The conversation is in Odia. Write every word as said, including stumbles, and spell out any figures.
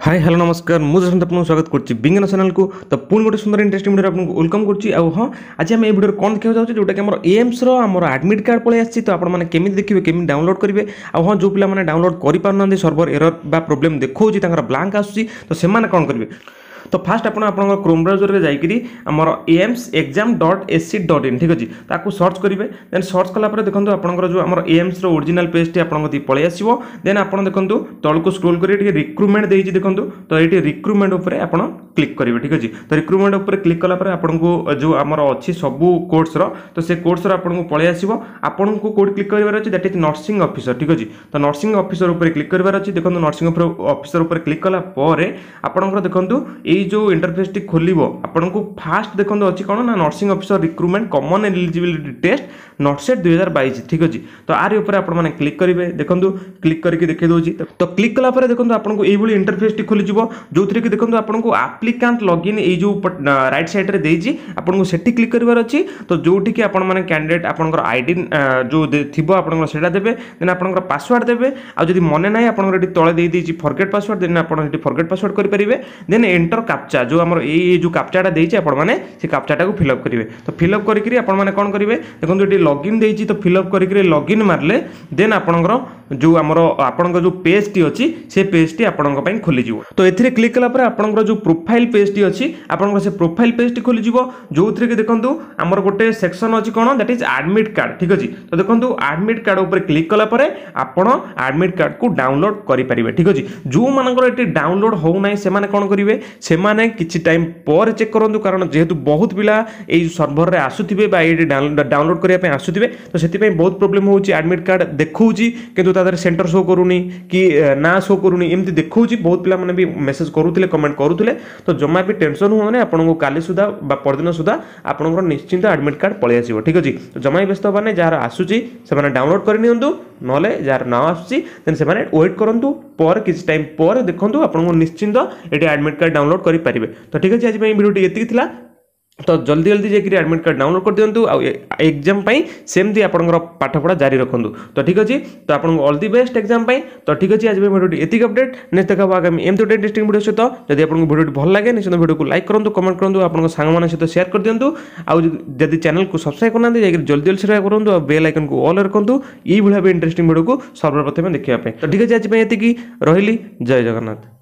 ହାଇ ହ୍ୟାଲୋ ନମସ୍କାର ମୁଁ ଯଶବନ୍ତ ଆପଣଙ୍କୁ ସ୍ୱାଗତ କରୁଛି ବିଜ୍ଞାନ ଚ୍ୟାନେଲକୁ ତ ପୁଣି ଗୋଟେ ସୁନ୍ଦର ଇଣ୍ଟରେଷ୍ଟିଂ ଭିଡ଼ିଓରେ ଆପଣଙ୍କୁ welcome କରୁଛି ଆଉ ହଁ ଆଜି ଆମେ ଏଇ ଭିଡ଼ିଓରେ କ'ଣ ଦେଖିବାକୁ ଯାଉଛେ ଯେଉଁଟାକି ଆମର ଏମ୍ସର ଆମର ଆଡ଼ମିଟ୍ କାର୍ଡ଼ ପଳେଇ ଆସିଛି ତ ଆପଣମାନେ କେମିତି ଦେଖିବେ କେମିତି ଡାଉନଲୋଡ଼ କରିବେ ଆଉ ହଁ ଯେଉଁ ପିଲାମାନେ ଡାଉନଲୋଡ଼ କରିପାରୁନାହାନ୍ତି ସର୍ଭର ଏରର ବା ପ୍ରୋବ୍ଲେମ୍ ଦେଖାଉଛି ତାଙ୍କର ବ୍ଲାଙ୍କ ଆସୁଛି ତ ସେମାନେ କ'ଣ କରିବେ ତ ଫାଷ୍ଟ ଆପଣ ଆପଣଙ୍କ କ୍ରୋମ୍ ବ୍ରାଉଜରରେ ଯାଇକରି ଆମର AIIMS exam dot AC dot in ଠିକ୍ ଅଛି ତାକୁ ସର୍ଚ୍ଚ କରିବେ ଦେନ୍ ସର୍ଚ୍ଚ କଲା ପରେ ଦେଖନ୍ତୁ ଆପଣଙ୍କର ଯେଉଁ ଆମର ଏମ୍ସର ଓରିଜିନାଲ୍ ପେଜ୍ଟି ଆପଣଙ୍କ କତିକି ପଳେଇ ଆସିବ ଦେନ୍ ଆପଣ ଦେଖନ୍ତୁ ତଳକୁ ସ୍କ୍ରୋଲ୍ କରି ଟିକେ ରିକ୍ରୁଟମେଣ୍ଟ ଦେଇଛି ଦେଖନ୍ତୁ ତ ଏଇଠି ରିକ୍ରୁଟମେଣ୍ଟ ଉପରେ ଆପଣ କ୍ଲିକ୍ କରିବେ ଠିକ୍ ଅଛି ତ ରିକ୍ରୁଟମେଣ୍ଟ ଉପରେ କ୍ଲିକ୍ କଲା ପରେ ଆପଣଙ୍କୁ ଯେଉଁ ଆମର ଅଛି ସବୁ କୋର୍ସର ତ ସେ କୋର୍ସର ଆପଣଙ୍କୁ ପଳେଇ ଆସିବ ଆପଣଙ୍କୁ କେଉଁଠି କ୍ଲିକ୍ କରିବାର ଅଛି that is nursing officer ଠିକ୍ ଅଛି ତ ନର୍ସିଂ ଅଫିସର ଉପରେ କ୍ଲିକ୍ କରିବାର ଅଛି ଦେଖନ୍ତୁ ନର୍ସିଂ ଅଫିସର ଉପରେ କ୍ଲିକ୍ କଲା ପରେ ଆପଣଙ୍କର ଦେଖନ୍ତୁ ଏଇ ଯେଉଁ ଇଣ୍ଟରଫେସ୍ଟି ଖୋଲିବ ଆପଣଙ୍କୁ ଫାଷ୍ଟ ଦେଖନ୍ତୁ ଅଛି କ'ଣ ନା nursing officer recruitment common eligibility test NORCET ଦୁଇ ହଜାର ବାଇଶ ଠିକ୍ ଅଛି ତ ଆରି ଉପରେ ଆପଣମାନେ କ୍ଲିକ୍ କରିବେ ଦେଖନ୍ତୁ କ୍ଲିକ୍ କରିକି ଦେଖାଇ ଦେଉଛି ତ କ୍ଲିକ୍ କଲା ପରେ ଦେଖନ୍ତୁ ଆପଣଙ୍କୁ ଏଇଭଳି ଇଣ୍ଟରଫେସ୍ଟି ଖୋଲିଯିବ ଯେଉଁଥିରେ କି ଦେଖନ୍ତୁ ଆପଣଙ୍କୁ ଆପ୍ଲିକାଣ୍ଟ ଲଗଇନ୍ ଏଇ ଯେଉଁ ରାଇଟ୍ ସାଇଡ଼୍ରେ ଦେଇଛି ଆପଣଙ୍କୁ ସେଠି କ୍ଲିକ୍ କରିବାର ଅଛି ତ ଯେଉଁଠିକି ଆପଣମାନେ କ୍ୟାଣ୍ଡିଡେଟ୍ ଆପଣଙ୍କର I D ଯେଉଁ ଥିବ ଆପଣଙ୍କର ସେଇଟା ଦେବେ ଦେନ୍ ଆପଣଙ୍କର ପାସୱାର୍ଡ଼ ଦେବେ ଆଉ ଯଦି ମନେ ନାହିଁ ଆପଣଙ୍କର ଏଠି ତଳେ ଦେଇଦେଇଛି ଫରଗେଟ୍ ପାସୱାର୍ଡ଼ ଦେନ୍ ଆପଣ ସେଠି ଫରଗେଟ୍ ପାସୱାର୍ଡ଼ କରିପାରିବେ ଦେନ୍ ଏଣ୍ଟର କାପଚା ଯେଉଁ ଆମର ଏଇ ଯେଉଁ କାପଚାଟା ଦେଇଛି ଆପଣମାନେ ସେ କାପଚାଟାକୁ ଫିଲ୍ଅପ୍ କରିବେ ତ ଫିଲ୍ଅପ୍ କରିକିରି ଆପଣମାନେ କ'ଣ କରିବେ ଦେଖନ୍ତୁ ଏଠି ଲଗ୍ଇନ୍ ଦେଇଛି ତ ଫିଲ୍ଅପ୍ କରିକିରି ଲଗ୍ଇନ୍ ମାରିଲେ ଦେନ୍ ଆପଣଙ୍କର ଯେଉଁ ଆମର ଆପଣଙ୍କ ଯେଉଁ ପେଜ୍ଟି ଅଛି ସେ ପେଜ୍ଟି ଆପଣଙ୍କ ପାଇଁ ଖୋଲିଯିବ ତ ଏଥିରେ କ୍ଲିକ୍ କଲା ପରେ ଆପଣଙ୍କର ଯେଉଁ ପ୍ରୋଫାଇଲ୍ ପେଜ୍ଟି ଅଛି ଆପଣଙ୍କର ସେ ପ୍ରୋଫାଇଲ୍ ପେଜ୍ଟି ଖୋଲିଯିବ ଯେଉଁଥିରେ କି ଦେଖନ୍ତୁ ଆମର ଗୋଟେ ସେକ୍ସନ୍ ଅଛି କ'ଣ that is admit card ଠିକ୍ ଅଛି ତ ଦେଖନ୍ତୁ ଆଡ଼ମିଟ୍ କାର୍ଡ଼ ଉପରେ କ୍ଲିକ୍ କଲା ପରେ ଆପଣ ଆଡ଼ମିଟ୍ କାର୍ଡ଼କୁ ଡାଉନଲୋଡ଼ କରିପାରିବେ ଠିକ୍ ଅଛି ଯେଉଁମାନଙ୍କର ଏଠି ଡାଉନଲୋଡ଼ ହେଉନାହିଁ ସେମାନେ କ'ଣ କରିବେ ସେମାନେ କିଛି ଟାଇମ୍ ପରେ ଚେକ୍ କରନ୍ତୁ କାରଣ ଯେହେତୁ ବହୁତ ପିଲା ଏଇ ସର୍ଭରରେ ଆସୁଥିବେ ବା ଏଇଠି ଡାଉନଲୋଡ଼ କରିବା ପାଇଁ ଆସୁଥିବେ ତ ସେଥିପାଇଁ ବହୁତ ପ୍ରୋବ୍ଲେମ୍ ହେଉଛି ଆଡ଼ମିଟ୍ କାର୍ଡ଼ ଦେଖାଉଛି କିନ୍ତୁ ତା ଦେହରେ ସେଣ୍ଟର ଶୋ କରୁନି କି ନାଁ ଶୋ କରୁନି ଏମିତି ଦେଖାଉଛି ବହୁତ ପିଲାମାନେ ବି ମେସେଜ୍ କରୁଥିଲେ କମେଣ୍ଟ କରୁଥିଲେ ତ ଜମା ବି ଟେନସନ୍ ହୁଅନି ଆପଣଙ୍କୁ କାଲି ସୁଦ୍ଧା ବା ପରଦିନ ସୁଦ୍ଧା ଆପଣଙ୍କର ନିଶ୍ଚିନ୍ତ ଆଡ଼ମିଟ୍ କାର୍ଡ଼ ପଳେଇ ଆସିବ ଠିକ୍ ଅଛି ତ ଜମା ବି ବ୍ୟସ୍ତ ହେବାର ନାହିଁ ଯାହାର ଆସୁଛି ସେମାନେ ଡାଉନଲୋଡ଼ କରିନିଅନ୍ତୁ ନହେଲେ ଯାହାର ନ ଆସୁଛି ଦେନ୍ ସେମାନେ ୱେଟ୍ କରନ୍ତୁ ପରେ କିଛି ଟାଇମ୍ ପରେ ଦେଖନ୍ତୁ ଆପଣଙ୍କୁ ନିଶ୍ଚିନ୍ତ ଏଠି ଆଡ଼ମିଟ୍ କାର୍ଡ଼ ଡାଉନଲୋଡ଼ କରିପାରିବେ ତ ଠିକ୍ ଅଛି ଆଜି ପାଇଁ ଭିଡ଼ିଓଟି ଏତିକି ଥିଲା ତ ଜଲ୍ଦି ଜଲ୍ଦି ଯାଇକରି ଆଡ଼ମିଟ୍ କାର୍ଡ଼ ଡାଉନଲୋଡ଼ କରିଦିଅନ୍ତୁ ଆଉ ଏକ୍ଜାମ୍ ପାଇଁ ସେମିତି ଆପଣଙ୍କର ପାଠପଢ଼ା ଜାରି ରଖନ୍ତୁ ତ ଠିକ୍ ଅଛି ତ ଆପଣଙ୍କୁ ଅଲ୍ the best exam ପାଇଁ ତ ଠିକ୍ ଅଛି ଆଜି ପାଇଁ ଭିଡ଼ିଓଟି ଏତିକି ଅପଡେଟ୍ ନେକ୍ସଟ ଦେଖା ହେବ ଆଗାମୀ ଏମିତି ଗୋଟେ ଇଣ୍ଟରେଷ୍ଟିଂ ଭିଡ଼ିଓ ସହିତ ଯଦି ଆପଣଙ୍କୁ ଭିଡ଼ିଓଟି ଭଲ ଲାଗେ ନିଶ୍ଚିତ ଭିଡ଼ିଓକୁ ଲାଇକ୍ କରନ୍ତୁ କମେଣ୍ଟ କରନ୍ତୁ ଆପଣଙ୍କ ସାଙ୍ଗମାନଙ୍କ ସହିତ ସେୟାର କରିଦିଅନ୍ତୁ ଆଉ ଯଦି ଚ୍ୟାନେଲକୁ ସବସ୍କ୍ରାଇବ୍ କରିନାହାନ୍ତି ଯାଇକରି ଜଲ୍ଦି ଜଲ୍ଦି ସବସ୍କ୍ରାଇବ୍ କରନ୍ତୁ ଆଉ ବେଲ୍ ଆଇକନ୍କୁ ଅଲ୍ ରଖନ୍ତୁ ଏଇଭଳି ଭାବେ ଇଣ୍ଟରେଷ୍ଟିଂ ଭିଡ଼ିଓକୁ ସର୍ବପ୍ରଥମେ ଦେଖିବା ପାଇଁ ତ ଠିକ୍ ଅଛି ଆଜି ପାଇଁ ଏତିକି ରହିଲି ଜୟ ଜଗନ୍ନାଥ।